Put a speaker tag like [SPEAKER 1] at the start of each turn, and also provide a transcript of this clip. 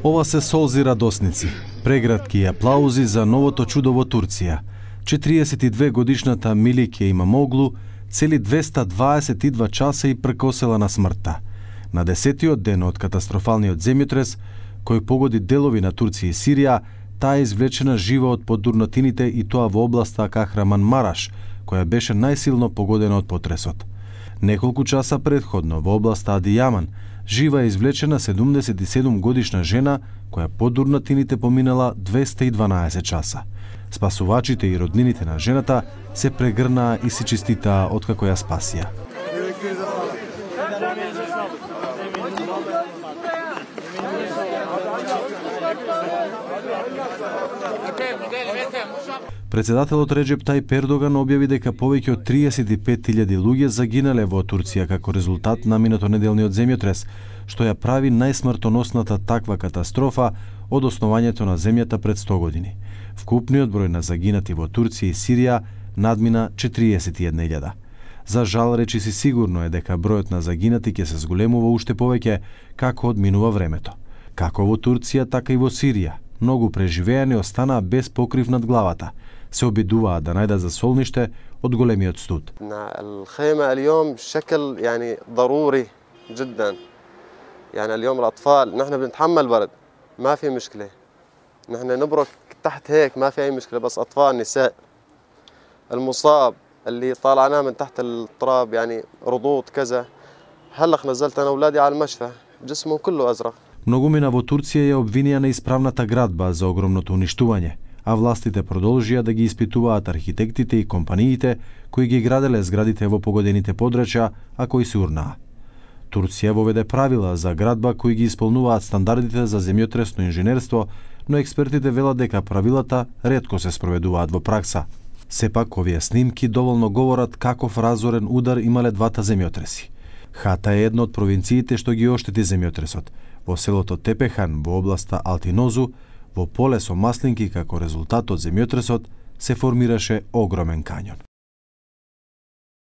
[SPEAKER 1] Ова се солзи радосници, прегратки и аплаузи за новото чудо во Турција. 42 годишната Милике Имамоглу цели 222 часа и прекосела на смртта. На 10-тиот ден од катастрофалниот земјотрес, кој погоди делови на Турција и Сирија, таа е извлечена жива од подурнатините и тоа во областа Кахраман-Мараш, која беше најсилно погодена од потресот. Неколку часа предходно во областа Адијаман, жива е извлечена 77 годишна жена која под урнатините поминала 212 часа. Спасувачите и роднините на жената се прегрнаа и се честитаа откако ја спасија. Председателот Реджеп Тајип Ердоган објави дека повеќе од 35.000 луѓе загинале во Турција како резултат на минатонеделниот земјотрес, што ја прави најсмртоносната таква катастрофа од основањето на земјата пред 100 години. Вкупниот број на загинати во Турција и Сирија надмина 41.000. За жал, речиси сигурно е дека бројот на загинати ќе се зголемува уште повеќе како одминува времето. Како во Турција, така и во Сирија, многу преживеани останаа без покрив над главата. Се обидуваа да најдат засолниште од големиот студ.
[SPEAKER 2] الخيمة اليوم شكل يعني ضروري جدا. يعني اليوم الأطفال نحن بنتحمل برد ما في مشكلة. نحن نبرك تحت هيك ما في أي مشكلة بس أطفال نساء. المصاب اللي طالعناه من تحت التراب يعني رضوض كذا. هلا نزلت أنا أولادي على المشفى جسمهم كله أزرق.
[SPEAKER 1] Многумина во Турција ја обвинија на исправната градба за огромното уништување, а властите продолжија да ги испитуваат архитектите и компаниите кои ги граделе зградите во погодените подрачја, а кои се урнаа. Турција воведе правила за градба кои ги исполнуваат стандардите за земјотресно инженерство, но експертите велат дека правилата ретко се спроведуваат во пракса. Сепак, овие снимки доволно говорат каков разорен удар имале двата земјотреси. Хата е една од провинциите што ги оштети земјотресот. Во селото Тепехан, во областа Алтинозу, во поле со маслинки како резултат од земјотресот, се формираше огромен кањон.